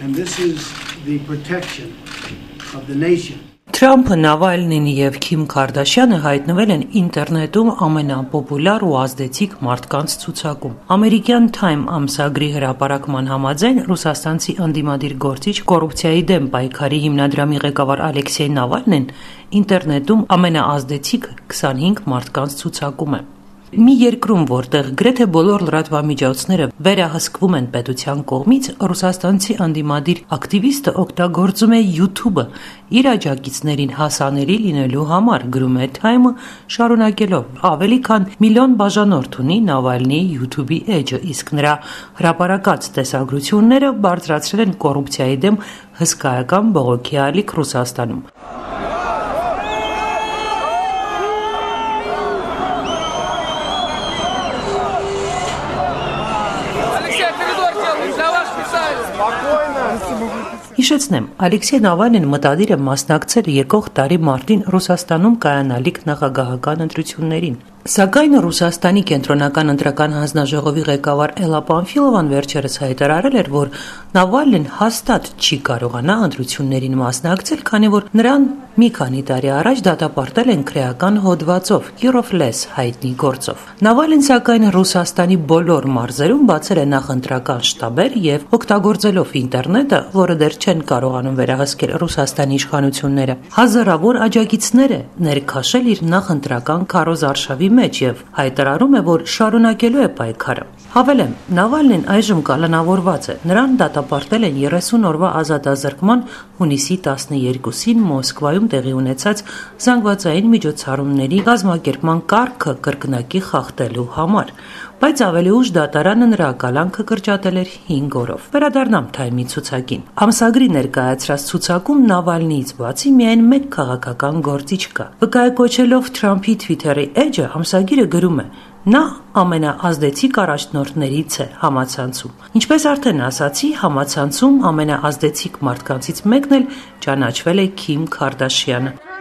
And this is the protection of the nation. Թրամփը, Նավալնին եւ Քիմ Քարդաշյանը հայտնվել են ինտերնետում ամենապոպուլար ու ազդեցիկ մարդկանց ցուցակում։ Ամերիկյան Time ամսագրի հրապարակման համաձայն ռուսաստանցի ընդդիմադիր գործիչ կոռուպցիայի դեմ պայքարի հիմնադրամի ղեկավար Ալեքսեյ Նավալնին ինտերնետում ամենաազդեցիկ 25 մարդկանց ցուցակում է։ Մի երկրում, որտեղ գրեթե բոլոր լրատվամիջոցները վերահսկվում են պետության կողմից, ռուսաստանցի ընդդիմադիր ակտիվիստը օգտագործում է YouTube-ը իր աջակիցներին հասանելի լինելու համար, գրում է Time-ը, շարունակելով. ավելի քան միլիոն բաժանորդ ունի Նավալնիի YouTube-ի էջը, իսկ նրա հրապարակած տեսագրությունները բարձրացրել են կոռուպցիայի դեմ հսկայական բողոքի ալիք Ռուսաստանում։ Հիշեցնեմ, Ալեքսեյ Նավալնին մտադիր է մասնակցել եկող տարի մարտին Ռուսաստանում կայանալիք նախագահական ընտրություններին։ Սակայն Ռուսաստանի կենտրոնական ընտրական հանձնաժողովի ղեկավար Էլլա Պանֆիլովան վերջերս հայտարարել էր, որ Նավալնին հաստատ չի կարողանա ընտրություններին մասնակցել, քանի որ նրան մի քանի տարի առաջ դատապարտել են քրեական հոդվածով Year of Less հայտնի գործով։ Նավալին, սակայն, Ռուսաստանի բոլոր մարզերում բացել է նախընտրական շտաբեր եւ օգտագործելով ինտերնետը, որը դեռ չեն կարողանում վերահսկել Ռուսաստանի իշխանությունները, հազարավոր աջակիցներ է ներքաշել իր նախընտրական քարոզարշավի մեջ եւ հայտարարում է, որ շարունակելու է պայքարը։ Հավելեմ, Նավալնին այժմ կալանավորված է։ Նրան դատապարտել են 30 օրվա ազատազրկման հունիսի 12-ին Մոսկվայում տեղի ունեցած զանգվածային միջոցառումների կազմակերպման կարգը կրկնակի խախտելու համար, բայց ավելի ուշ դատարանը նրա կալանքը կրճատել էր 5 օրով։ Վերադառնամ Time-ի ցուցակին։ Ամսագրի ներկայացրած ցուցակում Նավալնիից բացի միայն մեկ քաղաքական գործիչ կա։ Վկայակոչելով Թրամփի Twitter-ի էջը, ամսագիրը գրում է. նա ամենաազդեցիկ առաջնորդներից է համացանցում։ Ինչպես արդեն ասացի, համացանցում ամենաազդեցիկ մարդկանցից մեկն էլ ճանաչվել է Քիմ Քարդաշյանը։